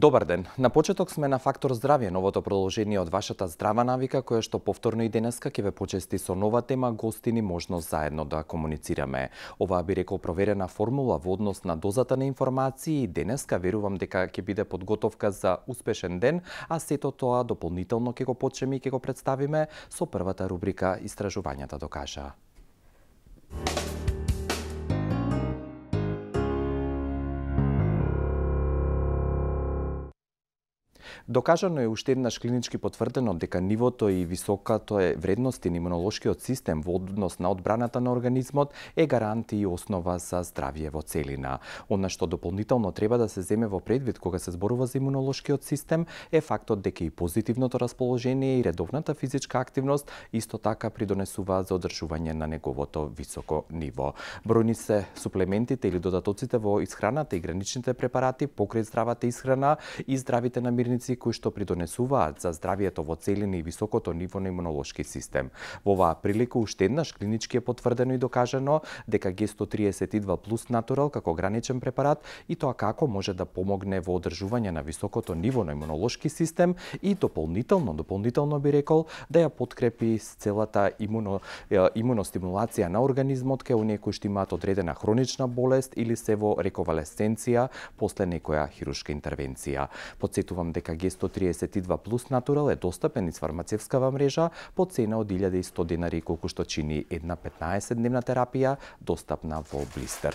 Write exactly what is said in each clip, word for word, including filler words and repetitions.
Добар ден. На почеток сме на Фактор здравје, новото продолжение од вашата здрава навика, која што повторно и денеска ќе ве почести со нова тема, гостини, можност заедно да комуницираме. Оваа би рекол проверена формула во однос на дозата на информации и денеска верувам дека ќе биде подготовка за успешен ден, а сето тоа дополнително ќе го почнеме и ќе го представиме со првата рубрика Истражувањата докажаа. Докажано е уште еднаш клинички потврдено дека нивото и високото е вредности на имунолошкиот систем во однос на одбраната на организмот е гарант и основа за здравје во целина. Она што дополнително треба да се земе во предвид кога се зборува за имунолошкиот систем е фактот дека и позитивното расположение и редовната физичка активност исто така придонесуваат за одржување на неговото високо ниво. Бројни се суплементите или додатоците во исхраната и граничните препарати покрај здравата исхрана и здравите намирници кои што придонесуваат за здравието во целина и високото ниво на имунолошки систем. Во оваа прилика уште еднаш клинички е потврдено и докажано дека Г сто триесет и два плюс Натурал како граничен препарат и тоа како може да помогне во одржување на високото ниво на имунолошки систем и дополнително, дополнително би рекол да ја подкрепи с целата имуно, имуностимулација на организмот кај оние кои што имаат одредена хронична болест или се во рековалесценција после некоја хируршка интервенција. Потсетувам дека Г сто триесет и два плюс Натурал е достапен низ фармацевскава мрежа по цена од илјада и сто денари, колку што чини една петнаесет дневна терапија, достапна во блистер.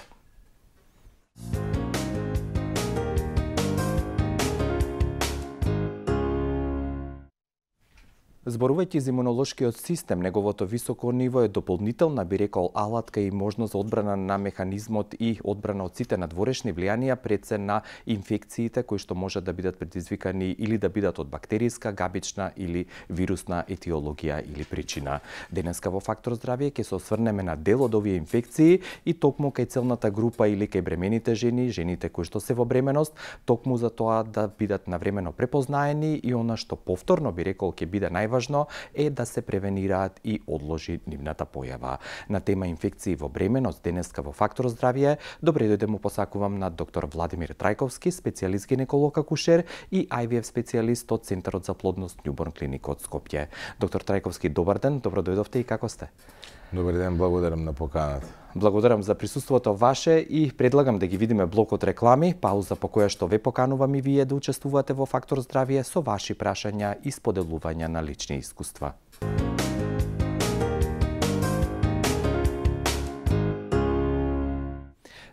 Зборувајќи за имунолошкиот систем, неговото високо ниво е дополнителна, би рекол, алатка и можност за одбрана на механизмот и одбрана од сите надворешни влијанија пред се на инфекциите кои што можат да бидат предизвикани или да бидат од бактериска, габична или вирусна етиологија или причина. Денеска во Фактор здравје ќе се осврнеме на дел од овие инфекции и токму кај целната група или кај бремените жени, жените кои што се во бременост, токму за тоа да бидат навремено препознаени и она што повторно би рекол ќе биде најважно е да се превенираат и одложи нивната појава. На тема инфекции во бременост денеска во Фактор здравје, добре дојде му посакувам на доктор Владимир Трајковски, специјалист гинеколог акушер и Ај Ви Еф специјалист од Центарот за плодност Њуборн клиник од Скопје. Доктор Трајковски, добар ден, добро дојдовте и како сте? Добар ден, благодарам на поканата. Благодарам за присуството ваше и предлагам да ги видиме блокот реклами, пауза по која што ве поканувам и вие да учествувате во Фактор здравје со ваши прашања и споделувања на лични искуства.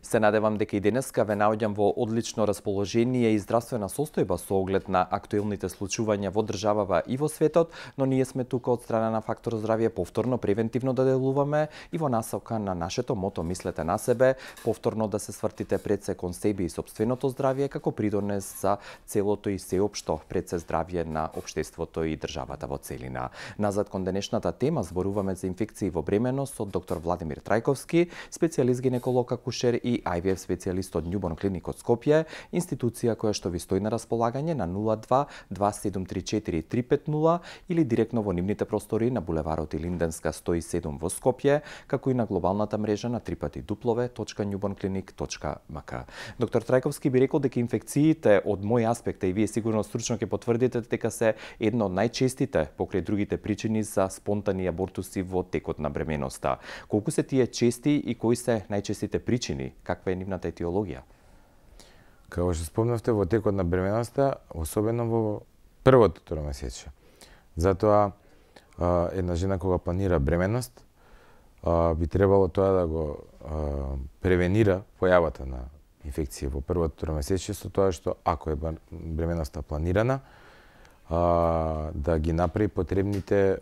Се надевам дека и денеска ве наоѓам во одлично расположение и здравствена состојба со оглед на актуелните случувања во државава и во светот, но ние сме тука од страна на Фактор здравје повторно превентивно да делуваме и во насока на нашето мото мислете на себе, повторно да се свртите пред се кон себе и сопственото здравје како придонес за целото и сеопшто пред се здравје на општеството и државата во целина. Назад кон денешната тема зборуваме за инфекции во бременост со доктор Владимир Трајковски, специјалист гинеколог акушер и Ај Ви Еф специјалист од Њуборн клиник од Скопје, институција која што ви стои на располагање на нула два два седум три четири три пет нула или директно во нивните простори на булеварот Илинденска сто и седум во Скопје, како и на глобалната мрежа на три пати дуплове точка њуборн клиник точка ем ка. Доктор Трајковски би рекол дека инфекциите од мој аспект и вие сигурно стручно ќе потврдите дека се едно од најчестите покрај другите причини за спонтани абортуси во текот на бременоста. Колку се тие чести и кои се најчестите причини? Каква е нивната етиологија? Како што спомнавте, во текот на бременоста, особено во првото тромесечие. Затоа една жена кога планира бременост, би требало тоа да го превенира појавата на инфекција во првото тромесечие со тоа што ако е бременоста планирана, да ги направи потребните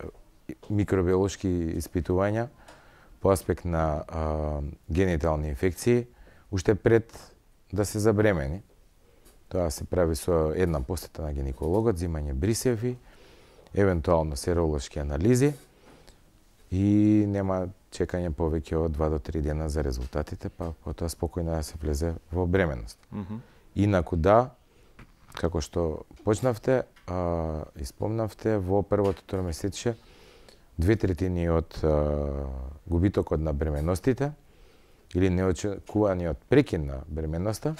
микробиолошки испитувања по аспект на генитални инфекции уште пред да се забремени. Тоа се прави со една посета на гинекологот, земање брисеви, евентуално серолошки анализи и нема чекање повеќе од два до три дена за резултатите, па потоа спокојно да се влезе во бременост. Mm -hmm. Инаку да, како што почнавте а, и спомнавте, во првото тромесечие две третини од а, губитокот на бременостите или неочекуваниот прекин на бременноста,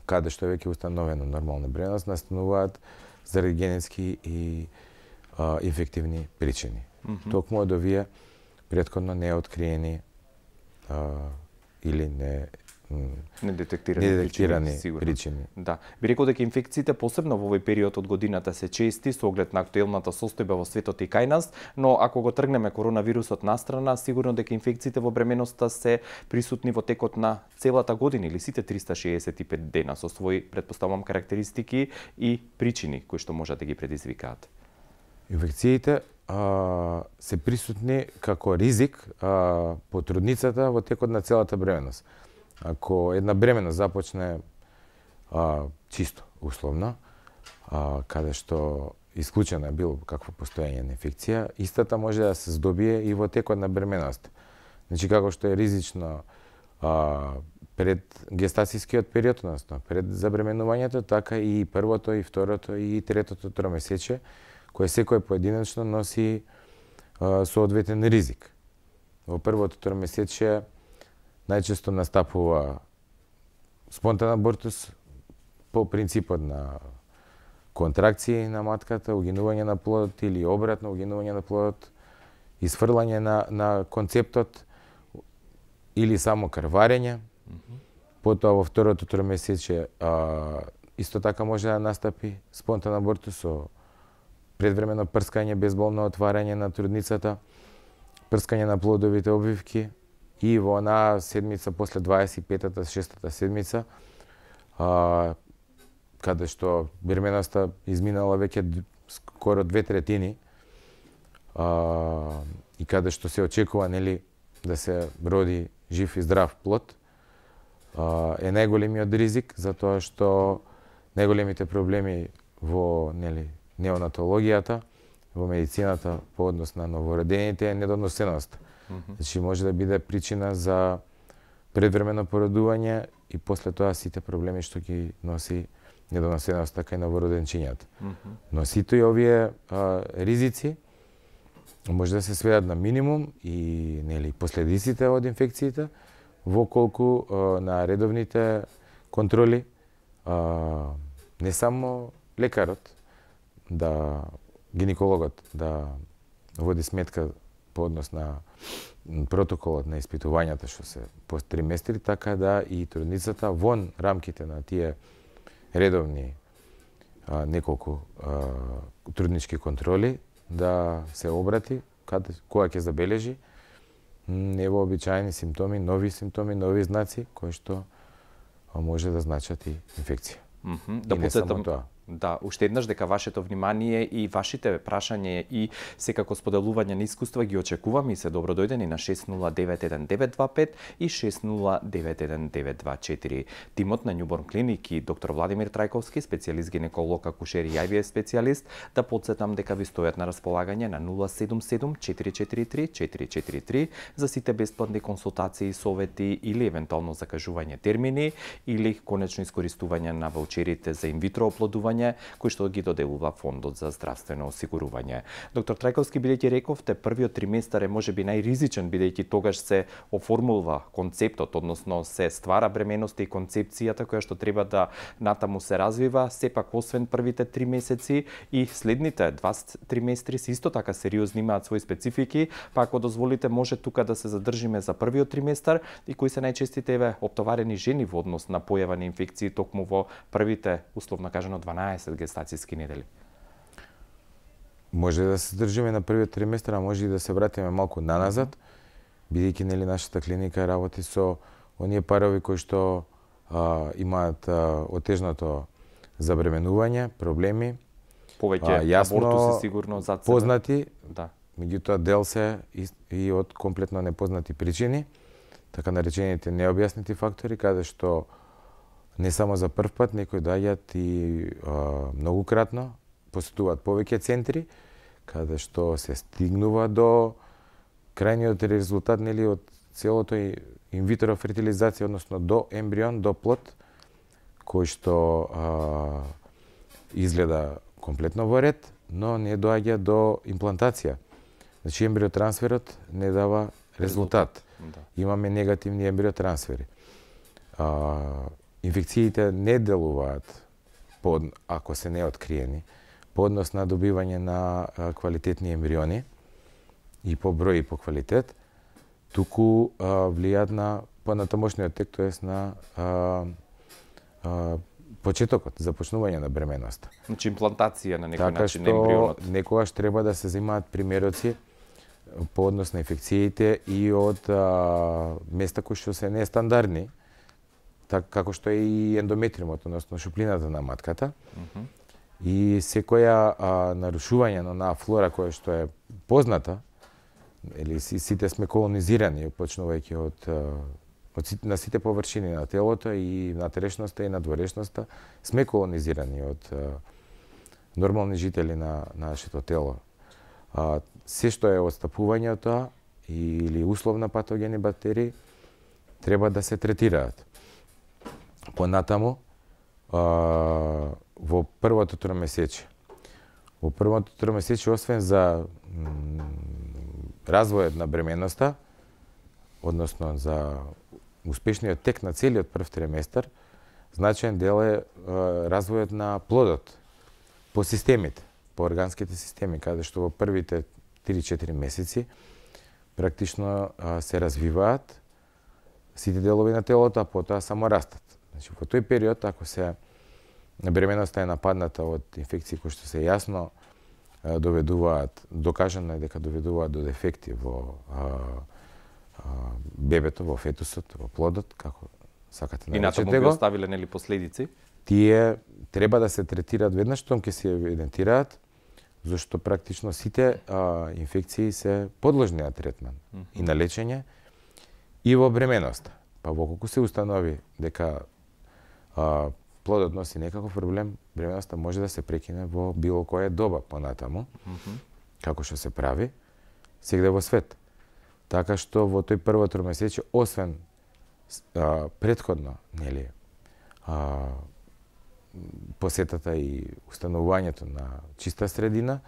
каде што е веќе установено нормална бременост, настануваат заради генетски и а, инфективни причини. Mm -hmm. Токму од овие претходно неоткриени а, или не недетектирани, недетектирани причини, причини. Да. Би рекол дека инфекциите посебно во овој период од годината се чести со оглед на актуелната состојба во светот и кај нас, но ако го тргнеме коронавирусот настрана, сигурно дека инфекциите во бременоста се присутни во текот на целата година или сите триста шеесет и пет дена со своји, претпоставувам, карактеристики и причини кои што можат да ги предизвикаат. Инфекциите а, се присутни како ризик а, по трудницата во текот на целата бременост. Ако една бременост започне а, чисто, условно, а, каде што исклучено е било какво постоење на инфекција, истата може да се здобие и во текот на бременост. Значи, како што е ризично а, пред гестацијскиот период, односно пред забременувањето, така и првото, и второто, и третото тромесечие, кој секој поединечно носи а, соодветен ризик. Во првото тромесечие најчесто настапува спонтан абортус по принципот на контракции на матката, угинување на плодот или обратно угинување на плодот, изфрлање на, на концептот или само крварење. Mm -hmm. Потоа во второто тромесечие а, исто така може да настапи спонтан абортус со предвремено прскање, безболно отварање на трудницата, прскање на плодовите обвивки и во онаа седмица после дваесет и петата, шестата седмица, а, каде што бременоста изминала веќе скоро две третини, а, и каде што се очекува, нели, да се роди жив и здрав плод, а, е најголемиот ризик, затоа што најголемите проблеми во, нели, неонатологијата, во медицината по однос на новородените е недоносеност. Mm -hmm. Значи може да биде причина за предвремено породување и после тоа сите проблеми што ги носи недоносеноста кај новороденчињата. Mm -hmm. Но сите и овие а, ризици може да се сведат на минимум и, нели, последиците од инфекциите во колку а, на редовните контроли а, не само лекарот, да гинекологот да води сметка по однос на протоколот на испитувањата што се по триместри, така да и трудницата вон рамките на тие редовни а, неколку а, труднички контроли да се обрати каде кога ќе забележи невообичаени симптоми, нови симптоми, нови знаци кои што може да значат и инфекција. Mm -hmm. Да подсетам, да, уште еднаш дека вашето внимание и вашите прашања и секако споделување на искуства ги очекувам и се добродојдени на шест нула девет еден девет два пет и шест нула девет еден девет два четири. Тимот на Њуборн Клиник и доктор Владимир Трајковски, специјалист гинеколог, акушер и ај ви ес специјалист, да подсетам дека ви стојат на располагање на нула седум седум четири четири три четири четири три за сите бесплатни консултации, совети или евентуално закажување термини или конечно искористување на ваучерите за инвитро оплодување кои што ги доделува Фондот за здравствено осигурување. Доктор Трајковски, бидејќи рековте, првиот триместар е можеби најризичен, бидејќи тогаш се оформулва концептот, односно се ствара бременоста и концепцијата која што треба да натаму се развива, сепак освен првите три месеци и следните два триместри се исто така сериозни, имаат своји специфики, па ако дозволите може тука да се задржиме за првиот триместар и кои се најчестите еве оптоварени жени во однос на појава на инфекции токму во првите, условно кажано, дванаесет гестацијски недели. Може да се држиме на првиот триместар, а може и да се вратиме малку наназад, бидејќи, нели, нашата клиника работи со оние парови кои што а, имаат а, отежното забременување, проблеми, повеќе абортуси сигурно зад себе познати, да. Меѓутоа дел се и, и од комплетно непознати причини, така наречените необјаснети фактори, каде што не само за прв пат, некои доаѓаат и а, многукратно, посетуваат повеќе центри, каде што се стигнува до крајниот резултат, нели, од целото инвитро фертилизација, односно до ембрион, до плод, кој што а, изгледа комплетно во ред, но не доаѓа до имплантација. Значи, ембриотрансферот не дава резултат. Да. Имаме негативни ембриотрансфери. А, инфекциите не делуваат под, ако се не откриени, по однос на добивање на а, квалитетни ембриони и по број и по квалитет, туку а, влијаат на понатамошниот тек, тоест на а, а, почетокот, започнување на бременоста. Значи имплантација на некој така начин на ембрионот. Така што некогаш треба да се земаат примероци по однос на инфекциите и од а, места кои што се нестандардни, така како што е и ендометриумот, односно шуплината на матката. Uh -huh. И секоја а, нарушување на онаа флора која што е позната, или сите сме колонизирани, почнувајќи од, од на сите површини на телото и на трешноста и на дворешноста, сме колонизирани од а, нормални жители на, на нашето тело. А, се што е отстапување од тоа или условна патогени бактерии треба да се третираат. Понатаму, а, во првото тромесечие. Во првото тромесечие, освен за развојот на бременоста, односно за успешниот тек на целиот прв триместар, значаен дел е, е развојот на плодот по системите, по органските системи, каде што во првите три-четири месеци практично а, се развиваат сите делови на телото, а потоа само растат. Значи, во тој период, ако се бременоста е нападната од инфекции кои што се јасно а, доведуваат, докажано е дека доведуваат до дефекти во а, а, бебето, во фетусот, во плодот, како сакате наречете го. И натаму би оставиле нели последици? Тие треба да се третираат веднаш штом ќе се евидентираат, зашто практично сите а, инфекции се подложни на третман mm -hmm. и на лечење и во бременоста. Па во колку се установи дека а, плодот носи некаков проблем, бременоста може да се прекине во било која доба понатаму, mm -hmm. како што се прави сегде во свет. Така што во тој прво тромесечие, освен а, предходно, нели, а, посетата и установувањето на чиста средина,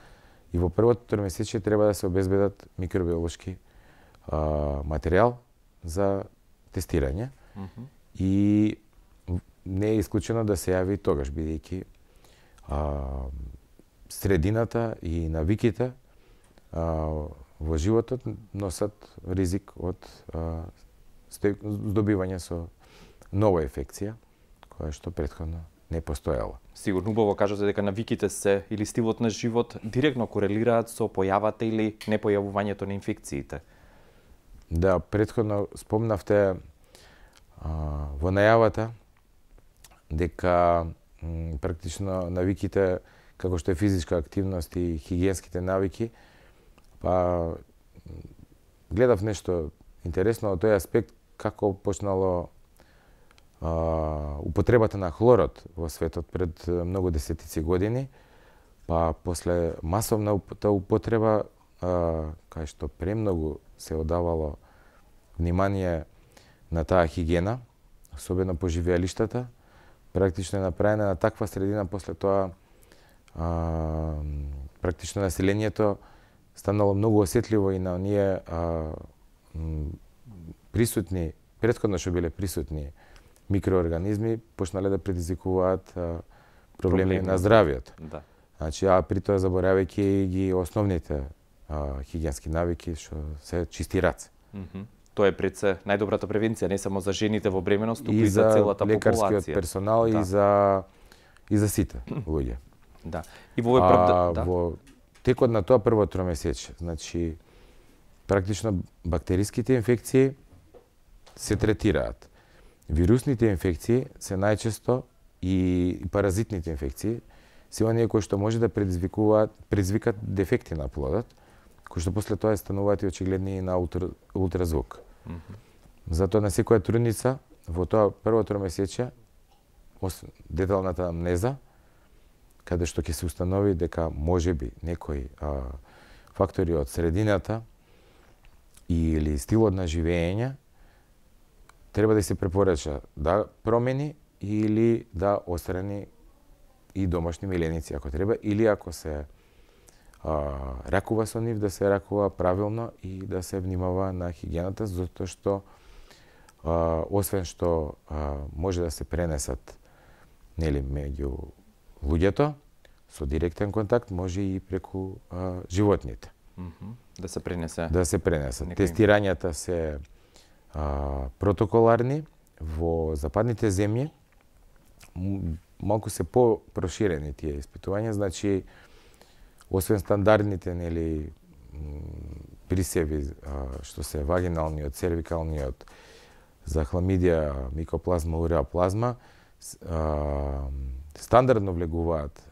и во првото тромесечие треба да се обезбедат микробиолошки а, материјал за тестирање. Mm -hmm. И не е исклучено да се јави тогаш, бидејќи средината и навиките а, во животот носат ризик од а, здобивање со нова инфекција, која што претходно не постоела. Сигурно убаво кажате дека навиките се или стилот на живот директно корелираат со појавата или непојавувањето на инфекциите. Да, претходно спомнавте а, во најавата дека м, практично навиките, како што е физичка активност и хигиенските навики, па гледав нешто интересно од тој аспект, како почнало а, употребата на хлорот во светот пред многу десетици години, па после масовна употреба, а, кај што премногу се одавало внимание на таа хигиена, особено по живеалиштата, практично е направена на таква средина, после тоа а, практично населението станало многу осетливо и на оние а, присутни, претходно што биле присутни микроорганизми, почнале да предизвикуваат а, проблеми, проблеми на здравието. Да. Значи, а при тоа заборавајќи ги основните а, хигиенски навики, што се чисти раце. Mm -hmm. Тоа е пред се најдобрата превенција, не само за жените во бременост, туку и, и за целата популација. И за лекарскиот персонал, да. и за и за сите луѓе. Да. И во овој прв... да. Во текот на тоа прво тромесечие, значи практично бактериските инфекции се третираат. Вирусните инфекции се најчесто и паразитните инфекции се оние кои што може да предизвикуваат, предизвикат дефекти на плодот, кои што после тоа стануваат и очигледни и на ултра, ултразвук. Mm -hmm. Затоа на секоја трудница во тоа прво тромесечие, деталната амнеза, каде што ќе се установи дека можеби некои а, фактори од средината или стилот на живење треба да се препорача да промени или да острани и домашни миленици ако треба, или ако се а, ракува со нив, да се ракува правилно и да се внимава на хигиената, затоа што а, освен што а, може да се пренесат нели меѓу луѓето со директен контакт, може и преку а, животните. Mm -hmm. Да се пренесе. Да се пренесат. Некој... Тестирањата се а, протоколарни во западните земји. Малку се по-проширени тие испитувања, значи освен стандардните нели присеви што се вагиналниот, цервикалниот, за хламидија, микоплазма, уреоплазма, стандардно влегуваат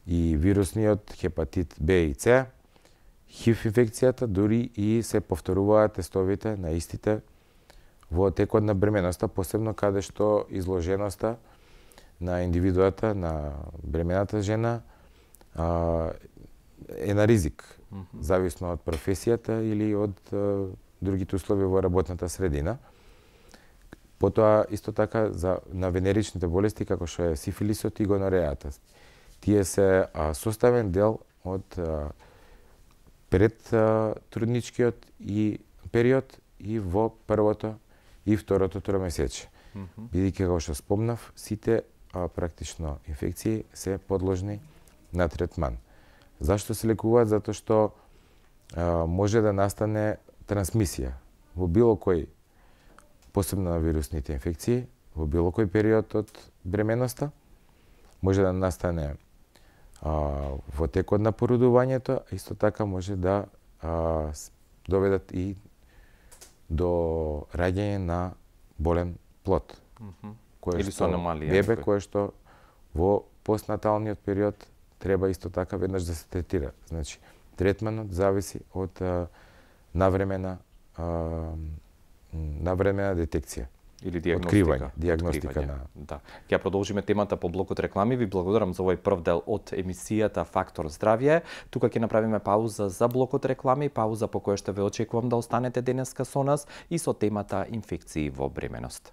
и вирусниот хепатит Б и С, ХИВ инфекцијата, дури и се повторуваат тестовите на истите во текот на бременоста, посебно каде што изложеноста на индивидуата, на бремената жена, а, е на ризик, mm -hmm. зависно од професијата или од а, другите услови во работната средина. Потоа, исто така, за, на венеричните болести, како што е сифилисот и гонорејата. Тие се а, составен дел од а, пред а, трудничкиот и период и во првото и второто тромесечие. Mm -hmm. Бидејќи, како што спомнав, сите а, практично инфекции се подложни на третман. Зашто се лекуваат? Затоа што а, може да настане трансмисија во било кој, посебно на вирусните инфекции, во било кој период од бременоста. Може да настане а, во текот на породувањето, а исто така може да а, доведат и до раѓање на болен плод. Mm -hmm. Кое Или што аномалија, бебе кое што во постнаталниот период треба исто така веднаш да се третира. Значи, третманот зависи од а, навремена а, навремена детекција. Или диагностика. Диагностика Откривање. на... Да. Ќе продолжиме темата по блокот реклами. Ви благодарам за овој прв дел од емисијата Фактор здравје. Тука ќе направиме пауза за блокот реклами, пауза по која што ве очекувам да останете денеска со нас и со темата инфекции во бременост.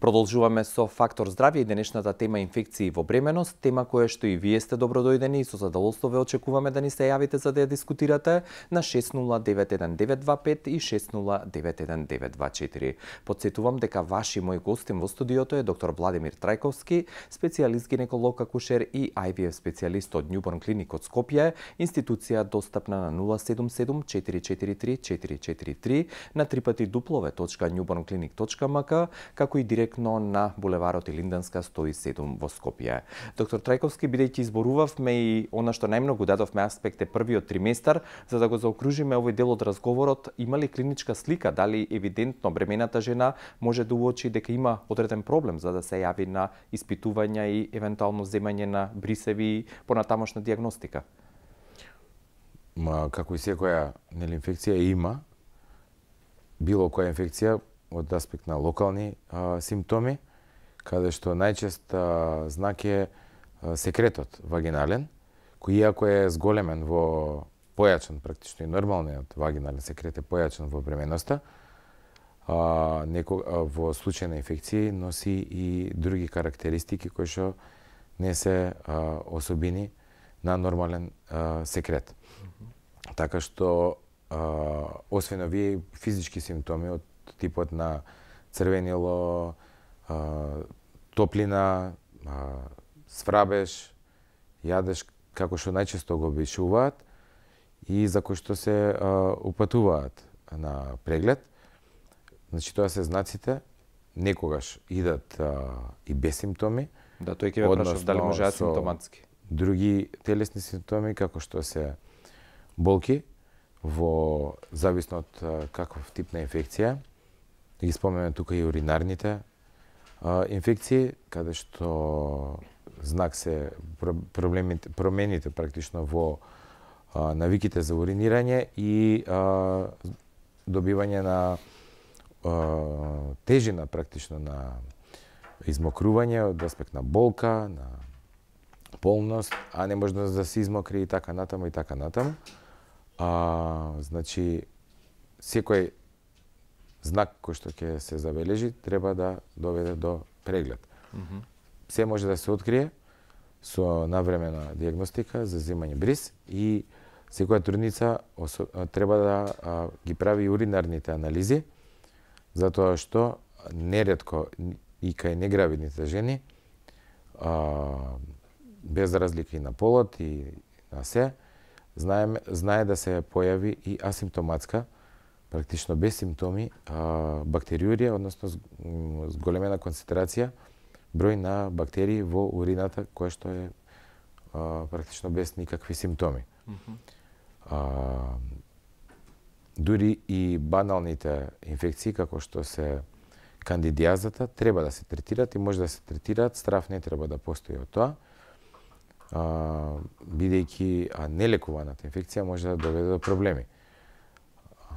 Продолжуваме со Фактор здравје и денешната тема инфекции во бременост, тема која што и вие сте добродојдени и со задоволство ве очекуваме да ни се јавите за да ја дискутирате на шест нула девет еден девет два пет и шест нула девет еден девет два четири. Потсетувам дека ваши мој гостин во студиото е доктор Владимир Трајковски, специјалист гинеколог акушер и Ай Ви Еф специјалист од Њуборн клиник од Скопје, институција достапна на нула седум седум четири четири три четири четири три на трипати дуплове точка њуборнклиник точка ем ка, како и директно на булеварот Илинденска сто и седум во Скопје. Доктор Трајковски, бидејќи изборувавме и она што најмногу дадовме аспект е првиот триместар, за да го заокружиме овој дел од разговорот, има ли клиничка слика, дали евидентно бремената жена може да уочи дека има одреден проблем за да се јави на испитувања и евентуално земање на брисеви и понатамошна диагностика? Ма, како и секоја нели инфекција има, било која инфекција од аспект на локални а, симптоми, каде што најчест а, знак е а, секретот вагинален, кој иако е зголемен во појачен, практично и нормалниот вагинален секрет е појачен во бременоста, а, неко, а, во случај на инфекции носи и други карактеристики кои што не се а, особини на нормален а, секрет. Mm-hmm. Така што, а, освен овие физички симптоми од типот на црвенило, а, топлина, а, сврабеж, јадеж, како што најчесто го обичуваат и за кои што се а, упатуваат на преглед. Значи, тоа се знаците, некогаш идат а, и без симптоми. Да, тој ќе ве прашав дали може асимптоматски. Други телесни симптоми, како што се болки, во зависно од а, каков тип на инфекција. Ги споменаме тука и уринарните а, инфекции, каде што знак се проблемите, промените практично во а, навиките за уринирање и а, добивање на а, тежина практично на измокрување од аспект на болка, на полност, а не може да се измокри и така натаму и така натаму. А, значи, секој знак кој што ќе се забележи треба да доведе до преглед. Mm-hmm. Се може да се открие, со навремена диагностика за земање бриз и секоја трудница треба да а, ги прави уринарните анализи, затоа што неретко и кај негравидните жени, а, без разлика и на полот и на се, знае, знае да се појави и асимптоматска, практично без симптоми, а, бактериурија, односно зголемена концентрација, број на бактерии во урината, која што е а, практично без никакви симптоми. Mm-hmm. а, дури и баналните инфекции, како што се кандидиазата, треба да се третираат и може да се третираат, страв не треба да постои од тоа, а, бидејќи а нелекуваната инфекција може да доведе до проблеми. А,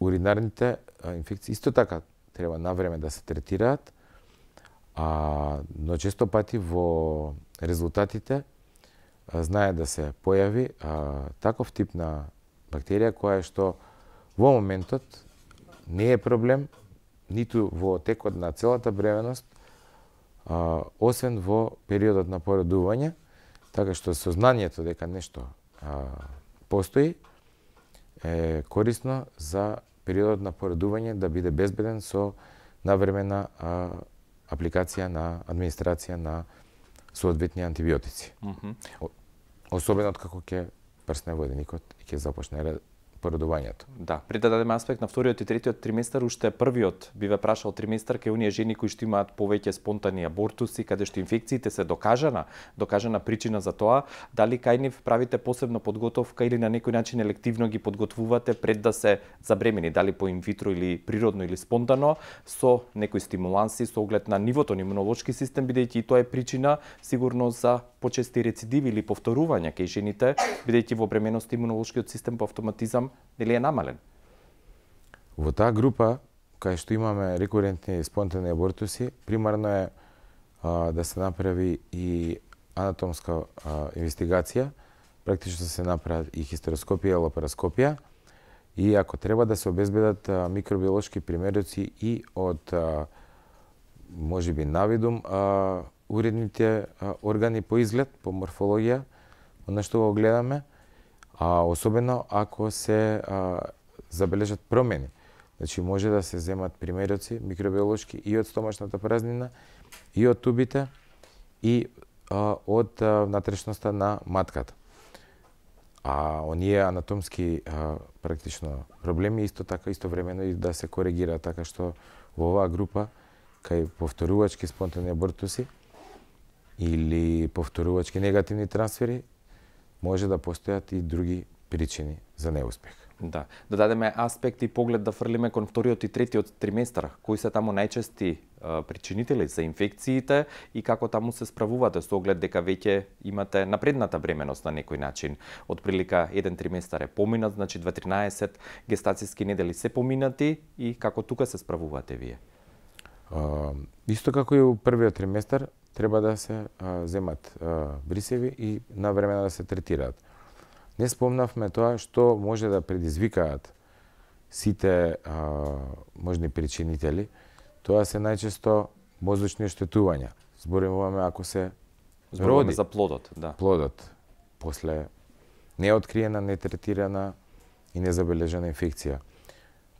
уринарните а, инфекции исто така треба навреме да се третираат, а, но често пати во резултатите а, знае да се појави а, таков тип на бактерија која што во моментот не е проблем, ниту во текот на целата бременост, а, освен во периодот на породување, така што сознанието дека нешто а, постои е корисно за периодот на породување да биде безбеден со навремена а, апликација на администрација на соодветни антибиотици. Mm-hmm. Особено како ќе прсне воденикот и ќе започне породувањето. Да, пред да дадеме аспект на вториот и третиот триместар, уште првиот би ве прашал триместар кај оние жени кои што имаат повеќе спонтани абортуси, каде што инфекциите се докажана, докажана причина за тоа, дали кај нив правите посебна подготовка или на некој начин елективно ги подготвувате пред да се забремени, дали по инвитро или природно или спонтано, со некои стимуланси со оглед на нивото на имунолошки систем, бидејќи и тоа е причина сигурно за почести рецидиви или повторувања кај жените, бидејќи во бременост имунолошкиот систем по автоматизам нели е намален? Во таа група, кај што имаме рекурентни спонтани абортуси, примарно е а, да се направи и анатомска а, инвестигација, практично се направи и хистероскопија, лапароскопија, и ако треба да се обезбедат а, микробиолошки примероци и од а, можеби навидум а, уредните а, органи по изглед, по морфологија, на што го гледаме, а особено ако се а, забележат промени. Значи може да се земат примероци микробиолошки и од стомачната празнина, и од тубите, и а, од а, внатрешноста на матката. А оние анатомски а, практично проблеми исто така истовремено и да се коригира, така што во оваа група кај повторувачки спонтани абортуси или повторувачки негативни трансфери може да постојат и други причини за неуспех. Да, да дадеме аспект и поглед да фрлиме кон вториот и третиот триместар, кои се таму најчести а, причинители за инфекциите и како таму се справувате со оглед дека веќе имате напредната бременост на некој начин. Од прилика еден триместар е поминат, значи дваесет гестацијски недели се поминати и како тука се справувате вие? А, исто како и у првиот триместар, треба да се а, земат а, брисеви и навремено да се третираат. Не спомнавме тоа што може да предизвикаат сите а, можни причинители. Тоа се најчесто мозочни оштетувања. Зборуваме ако се Зборуваме роди за плодот, да. Плодот после неоткриена, нетретирана и незабележана инфекција.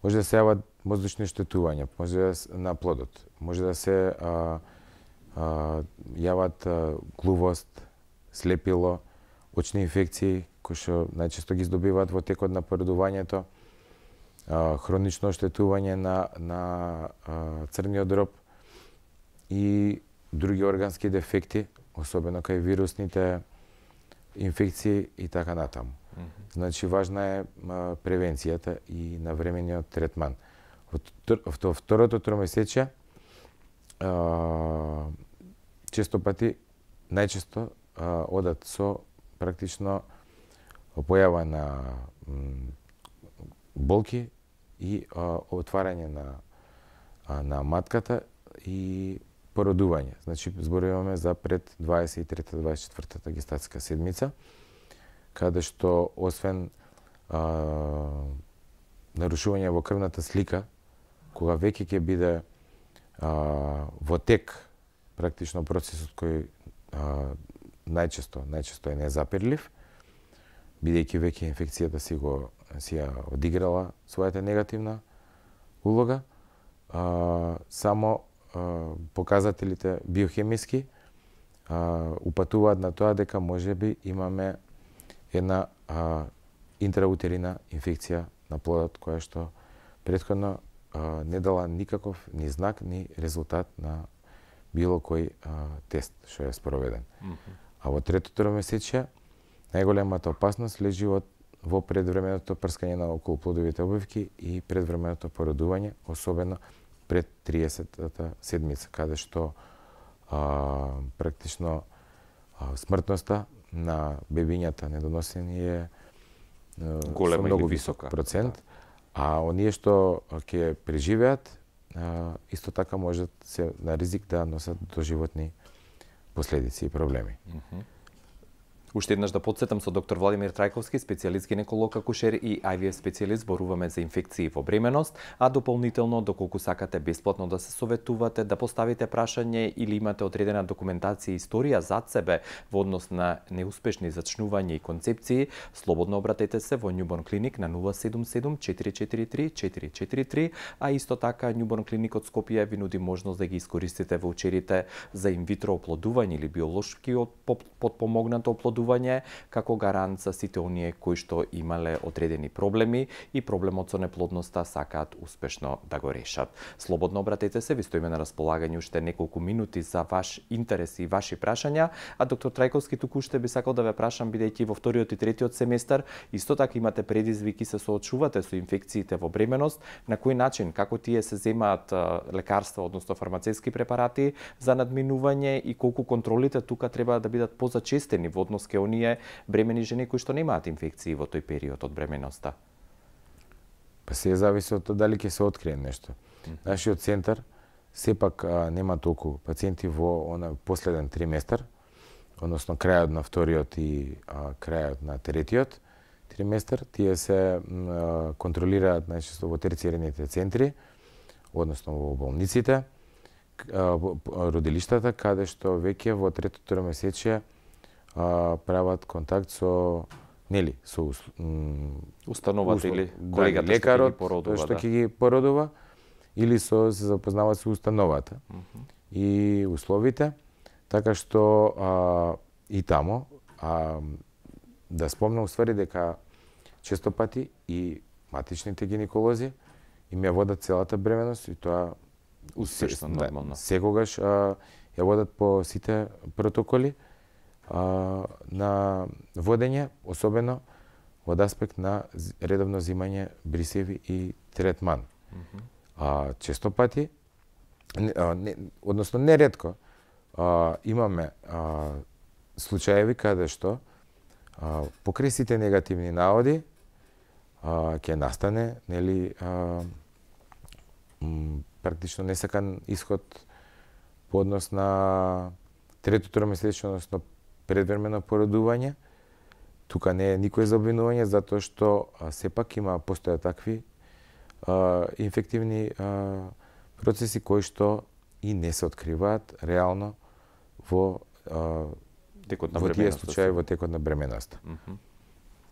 Може да се јават мозочни оштетувања, може да се, на плодот, може да се а, а, јават а, глувост, слепило, очни инфекции, кои што најчесто ги здобиваат во текот на породувањето, а, хронично оштетување на, на а, црниот дроб и други органски дефекти, особено кај вирусните инфекции и така натаму. Mm-hmm. Значи, важна е а, превенцијата и навремениот третман. Во второто тромесечие, а, често пати, најчесто а, одат со практично појава на м, болки и а, отварање на, а, на матката и породување. Значи, зборуваме за пред дваесет и трета дваесет и четвртата гестацијска седмица, каде што освен а, нарушување во крвната слика, кога веќе ќе биде а, во тек практично процесот кој а, најчесто, најчесто е незапирлив, бидејќи веќе инфекцијата си го си ја одиграла својата негативна улога. А, само а, показателите биохемиски а, упатуваат на тоа дека можеби имаме една а, интраутерина инфекција на плодот, која што претходно а, не дала никаков ни знак, ни резултат на било кој а, тест што е спроведен. Mm-hmm. А во третото тромесечие најголемата опасност лежи од во предвременото прскање на околуплодовите обивки и предвременото породување, особено пред триесеттата седмица, каде што а, практично а, смртноста на бебињата недоносени е голема со многу или висок висока процент, да. А оние што ќе преживеат, а, исто така можат се на ризик да носат доживотни последици и проблеми. Mm-hmm. Уште еднаш да подсетам со доктор Владимир Трајковски, специјалист гинеколог акушер и Ай Ви Еф специјалист, зборуваме за инфекции во бременост, а дополнително доколку сакате бесплатно да се советувате, да поставите прашање или имате одредена документација и историја зад себе во однос на неуспешни зачнувања и концепции, слободно обратете се во Newborn Clinic на нула седум седум четири четири три четири четири три, а исто така Newborn Clinic од Скопје ви нуди можност да ги искористите воучерите за инвитро оплодување или биолошки подпомогнато оплодување како гарант за сите оние кои што имале одредени проблеми и проблемот со неплодноста сакаат успешно да го решат. Слободно обратете се, ви стоиме на располагање уште неколку минути за ваш интерес и ваши прашања, а доктор Трајковски туку уште би сакал да ве прашам, бидејќи во вториот и третиот семестар исто така имате предизвики, се соочувате со инфекциите во бременост, на кој начин, како тие се земаат лекарства, односно фармацевски препарати за надминување и колку контролите тука треба да бидат позачестени во однос ке оние бремени жени кои што немаат инфекции во тој период од бременоста? Па се зависи од тоа дали ќе се открие нешто. Mm-hmm. Нашиот центар сепак а, нема толку пациенти во она последен триместар, односно крајот на вториот и а, крајот на третиот триместар. Тие се а, контролираат најчесто во терцијарните центри, односно во болниците, а, родилиштата, каде што веќе во третото тромесечие а, прават контакт со нели со установата или колегата лекарот што, што ќе ги породува или со се запознаваат со установата uh-huh. и условите, така што а, и тамо а, да спомнам уствари дека често пати и матичните гинеколози им ја водат целата бременост и тоа успешно нормално. Да, секогаш а, ја водат по сите протоколи а, на водење, особено од аспект на редовно зимање брисеви и третман. Mm-hmm. А, често пати, а, не, односно неретко, а, имаме а, случаеви каде што а, покрај сите негативни наводи а, ќе настане нели а, м, практично несакан исход по однос на третото тромесечие, односно предвремено породување. Тука не е никој за обвинување, затоа што а, сепак има постојат такви а, инфективни а, процеси кои што и не се откриваат реално во а, текот на во тие случаи во текот на бременоста. Mm-hmm.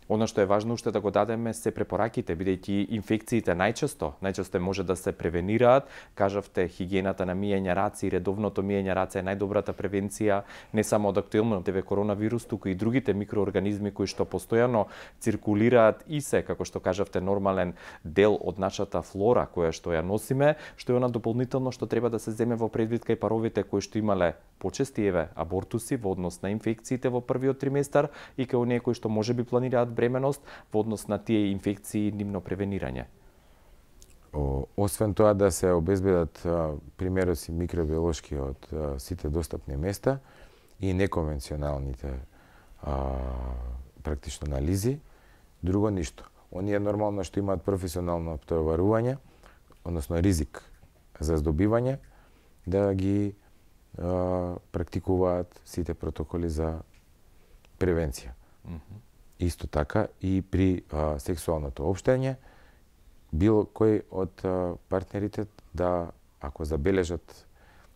Она што е важно уште да го дадеме се препораките, бидејќи инфекциите најчесто, најчесто може да се превенираат. Кажавте, хигиената на миење раци и редовното миење раце е најдобрата превенција не само од актуелниот коронавирус, туку и другите микроорганизми кои што постојано циркулираат и се, како што кажавте, нормален дел од нашата флора која што ја носиме, што е она дополнително што треба да се земе во предвид кај паровите кои што имале почести еве абортуси во однос на инфекциите во првиот триместар и кај оние кои што можеби планираат бременост во однос на тие инфекции и нивно превенирање. О, освен тоа да се обезбедат а, примероци микробиолошки од а, сите достапни места и неконвенционалните а, практично анализи, друго ништо. Оние нормално што имаат професионално обтоварување, односно ризик за здобивање, да ги а, практикуваат сите протоколи за превенција. Mm-hmm. Исто така и при а, сексуалното општење, било кој од а, партнерите да, ако забележат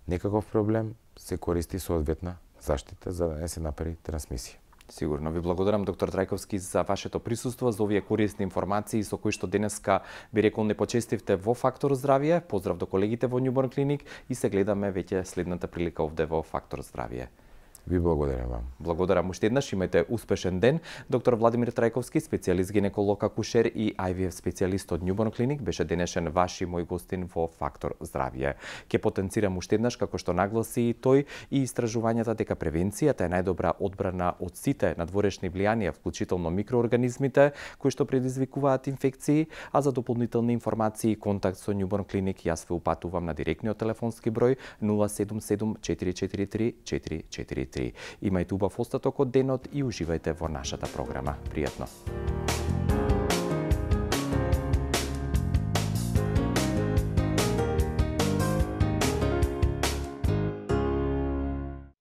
некаков проблем, се користи соодветна заштита за да не се направи трансмисија. Сигурно ви благодарам, доктор Трајковски, за вашето присуство, за овие корисни информации со кои што денеска би рекол не почестивте во Фактор здравје. Поздрав до колегите во Newborn Clinic и се гледаме веќе следната прилика овде во Фактор здравје. Ви благодарам вам. Благодарам уште еднаш, имајте успешен ден. Доктор Владимир Трајковски, специјалист гинеколог акушер и Ай Ви Еф специјалист од Newborn Clinic, беше денешен ваш и мој гостин во Фактор здравје. Ке потенцирам уште еднаш, како што нагласи и тој, и истражувањата дека превенцијата е најдобра одбрана од сите надворешни влијанија, вклучително микроорганизмите кои што предизвикуваат инфекции, а за дополнителни информации и контакт со Newborn Clinic јас ве упатувам на директниот телефонски број нула седум седум четири четири три четири четири три. Имајте убав остаток од денот и уживајте во нашата програма. Пријатно!